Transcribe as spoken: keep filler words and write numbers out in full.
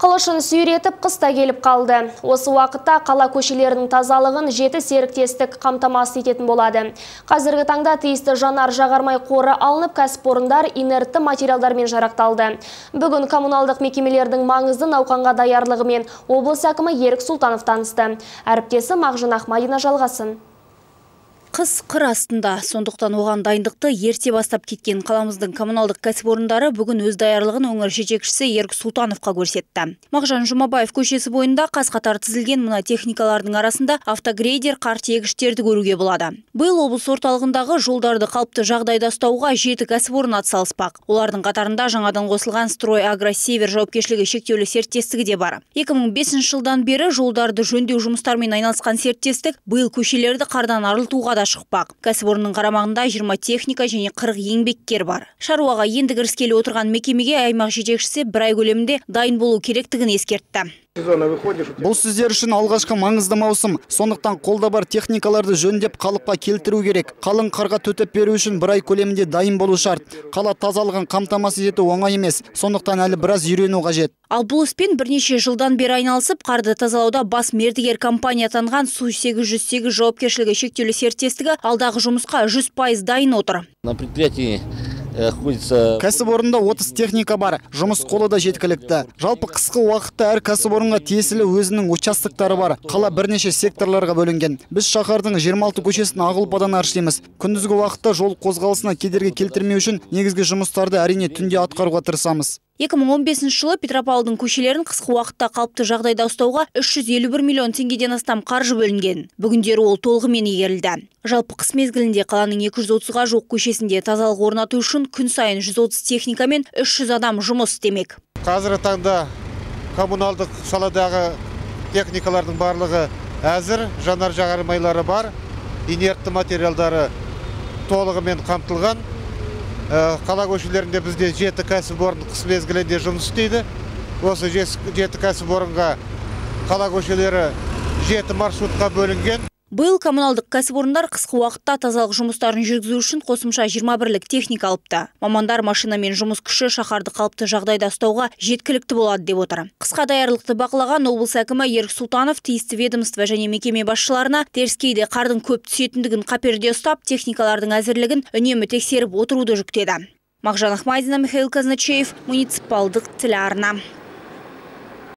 Қылышын сүйретіп қыста келіп қалды. Осы уақытта қала көшелерінің тазалығын жеті серіктестік қамтамасыз ететін болады. Қазіргі таңда тиісті жанар жағармай қоры алынып, кәсіпорындар инертті материалдармен жарақталды. Бүгін коммуналдық мекемелердің маңызды науқанға даярлығымен облыс әкімі Ерік Сұлтанов танысты. Әріптесі Мағжан Ахмадина жалғасын. Қыс қыр астында, сондықтан оған дайындықты ерте бастап кеткен қаламыздың коммуналдық кәсіпорындары бүгін өз даярлығын өңір жетекшісі Ерік Сұлтановқа көрсетті. Мағжан Жұмабаев көшесі бойында қаз-қатар тізілген мына техникалардың арасында автогрейдер, қар тиегіштерді көруге болады. Биыл облыс орталығындағы жолдарды қалыпты жағдайда ұстауға жеті кәсіпорын атсалыспақ. Олардың қатарында жаңадан қосылған Строй Агросевер жауапкершілігі шектеулі серіктестігі де бар. екі мың бесінші жылдан бері жолдарды жөндеу жұмыстарымен айналысқан серіктестік биыл көшелерді қардан арылтуға да шықпақ. Кәсіпорынның қарамағында жиырма техника және қырық еңбеккер бар. Шаруаға енді кіріскелі отырған мекемеге аймақ жетекшісі бір ай көлемінде дайын болу керектігін ескертті. Бұл сіздер үшін алғашқы маңызды маусым. Сондықтан қолда бар техникаларды жөндеп қалыпқа келтіру керек. Қалың қарға төтеп беру үшін бір ай көлемінде дайын болу шарт. Қала тазалығын қамтамасыз ету оңай емес. Сондықтан әлі біраз үйрену қажет. Ал бұл іспен бірнеше жылдан бері айналысып, қарды тазалауда бас мердігер компания атанған Су сегіз жүз сегіз жауапкершілігі шектеулі серіктестігі алдағы жұмысқа жүз пайыз дайын отыр. На предприятии кәсіпорында отыз техника бар, жұмыс қолы да жеткілікті. Жалпы қысқы уақытта әр кәсіпорынға тиесілі өзінің участоктары бар. Қала бірнеше секторларға бөлінген. Біз шаһардың жиырма алты көшесін ақ ұлпадан аршимыз. Күндізгі уақытта жол қозғалысына кедергі келтірмеу үшін негізгі жұмыстарды әрине түнде атқаруға тырысамыз. екі мың он бесінші жылы Петропавлдың көшелерін қысқы уақытта қалыпты жағдайда ұстауға үш жүз елу бір миллион теңгеден астам қаржы бөлінген. Бүгіндері ол толығымен игерілді. Жалпы қыс мезгілінде қаланың екі жүз отызға жуық көшесінде тазалық орнату үшін күн сайын жүз отыз техника мен үш жүз адам жұмыс істемек. Қазіргі таңда коммуналдық саладағы техникалардың барлығы әзір, жанар жағармайлары бар, инертті материалдары толығымен қамтылған. Қала көшелерінде бізде жеті кәсіпорын қыс мезгілінде жұмыс істейді. Осы жеті кәсіпорынға қала көшелері жеті маршрутқа бөлінген. Биыл коммуналдық кәсіпорындар қысқы уақытта тазалық жұмыстарын жүргізу үшін қосымша жиырма бірлік техника алыпты. Мамандар машина мен жұмыс күші шаһарды қалыпты жағдайда ұстауға жеткілікті болады деп отыр. Қысқа даярлықты бақылаған облыс әкімі Ерік Сұлтанов тиісті ведомство және мекеме басшыларына теріскейде қардың көп түсетіндігін қаперде ұстап, техникалардың әзірлігін үнемі тексеріп отыруды жүктеді. Мағжан Ахмадина, Михаил Казначеев, муниципалдық телеарна.